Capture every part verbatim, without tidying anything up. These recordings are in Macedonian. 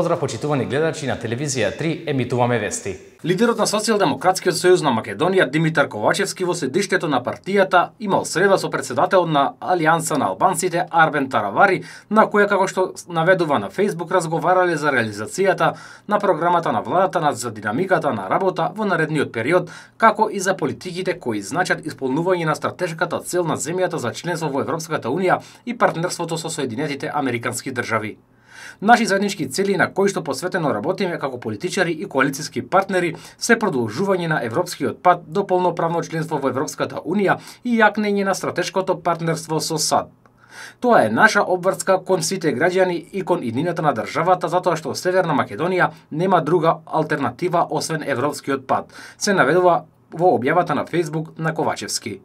Поздрав почитувани гледачи, на телевизија три емитуваме вести. Лидерот на Социјалдемократскиот сојуз на Македонија Димитар Ковачевски во седиштето на партијата имал среда со председателот на Алијанса на албанците Арбен Таравари, на која, како што наведува на Facebook, разговарале за реализацијата на програмата на владата за динамиката на работа во наредниот период, како и за политиките кои значат исполнување на стратешката цел на земјата за членство во Европската унија и партнерството со Соединетите Американски држави. Наши заеднички цели на кои што посветено работиме како политичари и коалициски партнери се продолжување на европскиот пат до полноправно членство во Европската унија и јакнење на стратешкото партнерство со САД. Тоа е наша обврска кон сите граѓани и кон иднината на државата, затоа што Северна Македонија нема друга алтернатива освен европскиот пат, се наведува во објавата на Facebook на Ковачевски.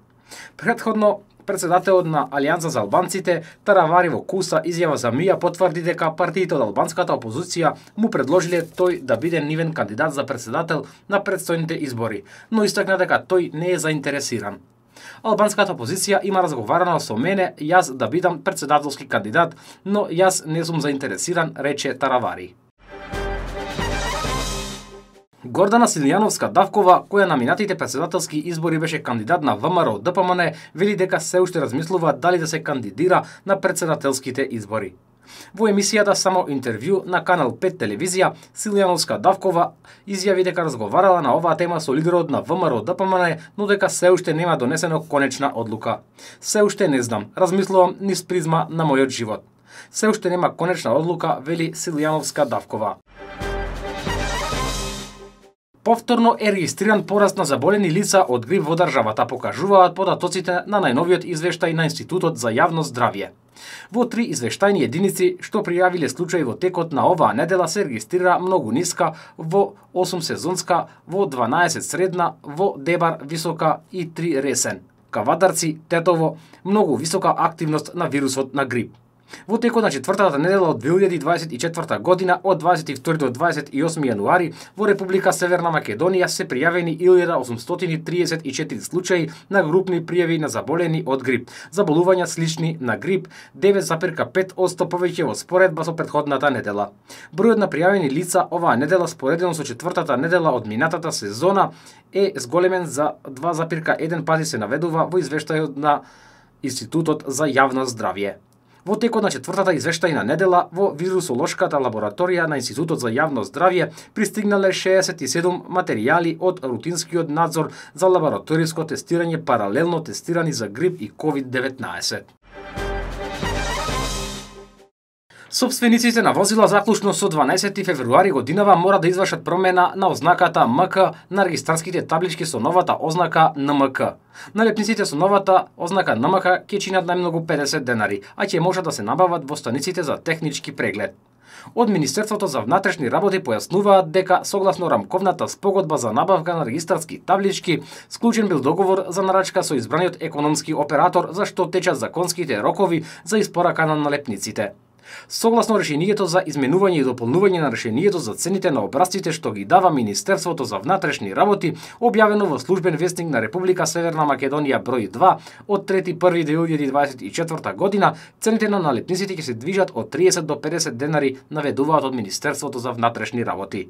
Претходно, председателот на Алијанса за албанците Таравари во куса изјава за МИА потврди дека партиите од албанската опозиција му предложиле тој да биде нивен кандидат за председател на претстојните избори, но истакна дека тој не е заинтересиран. Албанската опозиција има разговарано со мене јас да бидам председателски кандидат, но јас не сум заинтересиран, рече Таравари. Гордана Силјановска-Давкова, која на минатите председателски избори беше кандидат на ВМРО Д П М Н, вели дека се уште размислува дали да се кандидира на председателските избори. Во емисијата Само интервју на Канал пет телевизија, Силјановска-Давкова изјави дека разговарала на оваа тема со лидерот на ВМРО Д П М Н, но дека се уште нема донесено конечна одлука. Се уште не знам, размислувам низ призма на мојот живот. Се уште нема конечна одлука, вели Силјановска-Давкова. Повторно е регистриран пораст на заболени лица од грип во државата, покажуваат податоците на најновиот извештај на Институтот за јавно здравје. Во три извештајни единици што пријавиле случаи во текот на оваа недела се регистрира многу ниска, во осум сезонска, во дванаесет средна, во Дебар висока и три ресен. Кавадарци, Тетово, многу висока активност на вирусот на грип. Во текот на четвртата недела од две илјади дваесет и четврта година, од дваесет и втори до дваесет и осми јануари, во Република Северна Македонија се пријавени илјада осумстотини триесет и четири случаи на групни пријави на заболени од грип. Заболувања слични на грип, девет запир пет одсто повеќе во споредба со претходната недела. Бројот на пријавени лица оваа недела споредено со четвртата недела од минатата сезона е зголемен за два запир еден пати, се наведува во извештајот на Институтот за јавно здравје. Во текот на четвртата извештајна недела во вирусолошката лабораторија на Институтот за јавно здравје пристигнале шеесет и седум материјали од рутинскиот надзор за лабораториско тестирање, паралелно тестирани за грип и ковид деветнаесет. Собствениците на возила заклучно со дванаесети февруари годинава мора да извршат промена на ознаката М К на регистарските таблички со новата ознака Н М К. Налепниците со новата ознака Н М К ќе чинат најмногу педесет денари, а ќе можат да се набават во станиците за технички преглед. Од Министерството за внатрешни работи појаснуваат дека согласно рамковната спогодба за набавка на регистарски таблички, склучен бил договор за нарачка со избраниот економски оператор, за што течат законските рокови за испорака на налепниците. Согласно решението за изменување и дополнување на решението за цените на образците што ги дава Министерството за внатрешни работи, објавено во службен вестник на Република Северна Македонија број два од трети први две илјади дваесет и четврта година, цените на налепниците ќе се движат од триесет до педесет денари, наведуваат од Министерството за внатрешни работи.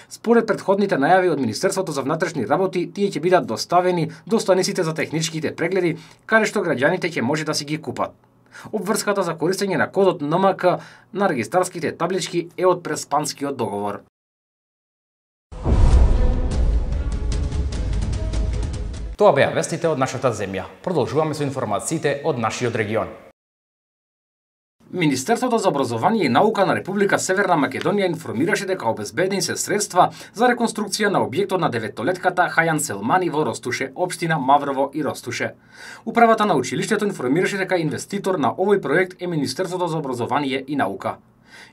Според претходните најави од Министерството за внатрешни работи, тие ќе бидат доставени до станиците за техничките прегледи, каде што граѓаните ќе може да си ги купат. Обврската за користење на кодот Н М К на регистарските таблички е од преспанскиот договор. Тоа беа вестите од нашата земја. Продолжуваме со информациите од нашиот регион. Министерството за образование и наука на Република Северна Македонија информираше дека обезбедени се средства за реконструкција на објектот на деветолетката Хајан Селмани во Ростуше, општина Маврово и Ростуше. Управата на училиштето информираше дека инвеститор на овој проект е Министерството за образование и наука.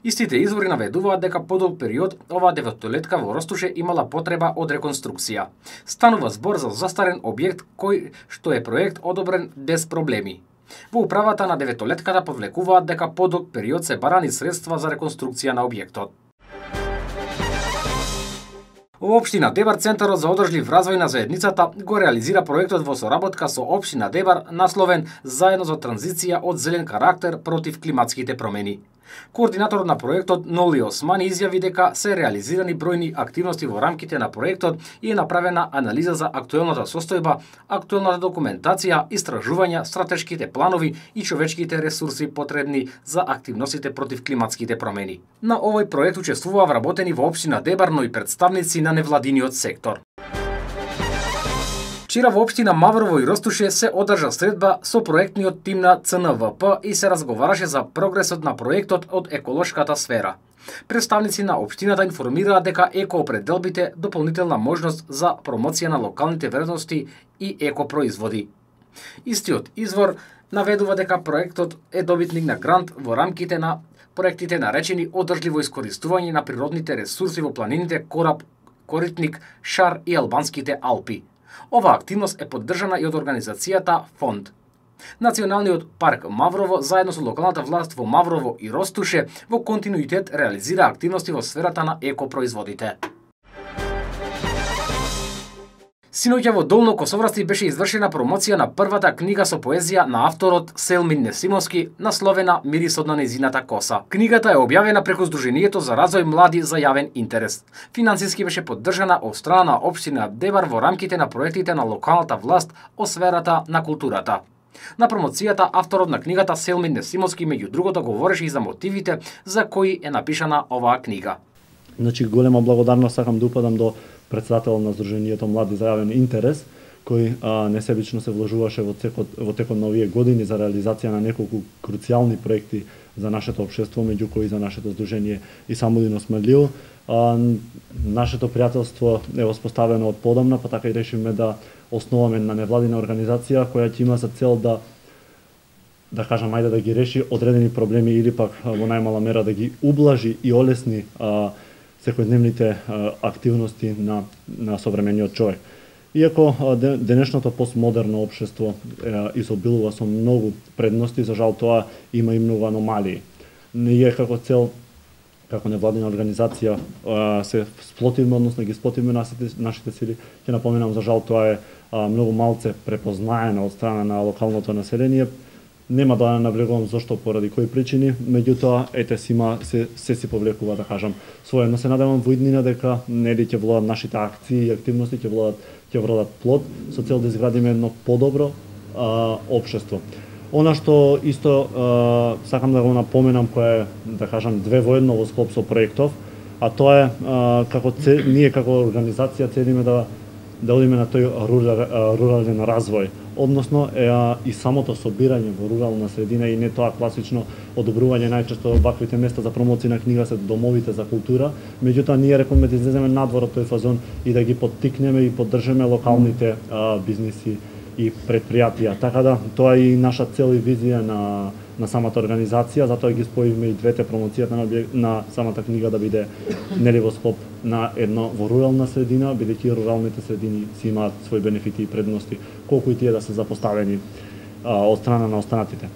Истите извори наведуваат дека подолг период оваа деветолетка во Ростуше имала потреба од реконструкција. Станува збор за застарен објект кој што е проект одобрен без проблеми. Во управата на деветолетката повлекуваат дека подолг период се барани средства за реконструкција на објектот. Во општина Дебар Центарот за одржлив развој на заедницата го реализира проектот во соработка со општина Дебар насловен Заедно за транзиција од зелен карактер против климатските промени. Координаторот на проектот Ноли Османи изјави дека се реализирани бројни активности во рамките на проектот и е направена анализа за актуелната состојба, актуелната документација, истражувања, стратешките планови и човечките ресурси потребни за активностите против климатските промени. На овој проект учествуваа вработени во општина Дебар, но и представници на невладиниот сектор. Вчера во општина Маврово и Ростуше се одржа средба со проектниот тим на Ц Н В П и се разговараше за прогресот на проектот од еколошката сфера. Представници на општината информираа дека екоопределбите дополнителна можност за промоција на локалните вредности и екопроизводи. Истиот извор наведува дека проектот е добитник на грант во рамките на проектите наречени одржливо искористување на природните ресурси во планините Кораб, Коритник, Шар и Албанските Алпи. Оваа активност е поддржана и од организацијата Фонд. Националниот парк Маврово заедно со локалната власт во Маврово и Ростуше во континуитет реализира активности во сферата на екопроизводите. Синоќа во Долно Косоврасти беше извршена промоција на првата книга со поезија на авторот Селмин Несимовски, насловена Мирисот на нејзината коса. Книгата е објавена преку Сдруженијето за развој млади за јавен интерес. Финансиски беше поддржана од страна на општина Дебар во рамките на проектите на локалната власт о сферата на културата. На промоцијата авторот на книгата Селмин Несимовски меѓу другото говореше и за мотивите за кои е напишана оваа книга. Значи голема благодарност сакам да упадам до председателот на Сдруженијето Млади за јавен интерес, кој а, несебично се вложуваше во текот во текот на овие години за реализација на неколку круцијални проекти за нашето општество, меѓу кои за нашето здружение и Самудин Османлио. А, нашето пријателство е воспоставено од подамна, па така и решивме да основаме на невладина организација која ќе има за цел да да кажам ајде да ги реши одредени проблеми или пак во најмала мера да ги ублажи и олесни а, секојдневните активности на, на современиот човек. Иако денешното постмодерно општество изобилува со многу предности, за жал тоа има и многу аномалии. Ние како цел, како невладина организација, се сплотиме, односно ги сплотиме нашите, нашите сили. Ќе напоменам, за жал тоа е многу малце препознаено од страна на локалното население. Нема да навлегувам зошто, поради кои причини, меѓутоа ете сима се, се си повлекува, да кажам, своје. Но се надевам во иднина дека нели ќе владат нашите акции и активности, ќе владат ќе владат плод со цел да изградиме едно подобро а, општество. Она што исто а, сакам да го напоменам, кој е, да кажам, две во едно во склоп со проектов, а тоа е а, како це, ние како организација целиме да да одиме на тој рурал, рурален развој, односно е, а, и самото собирање во рурална средина и не тоа класично одобрување најчесто ваквите места за промоција на книга се домовите за култура, меѓутоа ние рекоме да излеземе надвор од тој фазон и да ги поттикнеме и поддржиме локалните а, бизниси и предпријатија. Така да тоа е и наша цел и визија на на самата организација, затоа ги споивме и двете, промоцијата на, на самата книга да биде нели во склоп на едно во рурална средина, бидејќи руралните средини си имаат свои бенефити и предности, колку и тие да се запоставени а, од страна на останатите.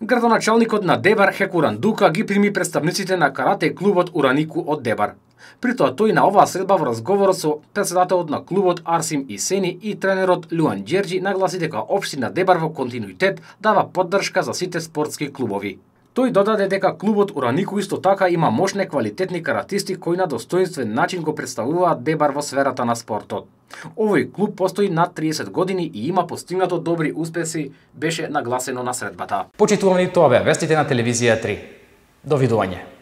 Градоначалникот на Дебар Хекуран Дука ги прими представниците на карате клубот Уранику од Дебар. При тоа тој на оваа средба во разговорот со председателот на клубот Арсим Исени и тренерот Луан Џерџи нагласи дека општина Дебар во континуитет дава поддршка за сите спортски клубови. Тој додаде дека клубот Уранику исто така има мощни квалитетни каратисти кои на достоинствен начин го представуваат Дебар во сферата на спортот. Овој клуб постои над триесет години и има постигнато добри успеси, беше нагласено на средбата. Почитувани, тоа беа вестите на телевизија три. Довидување.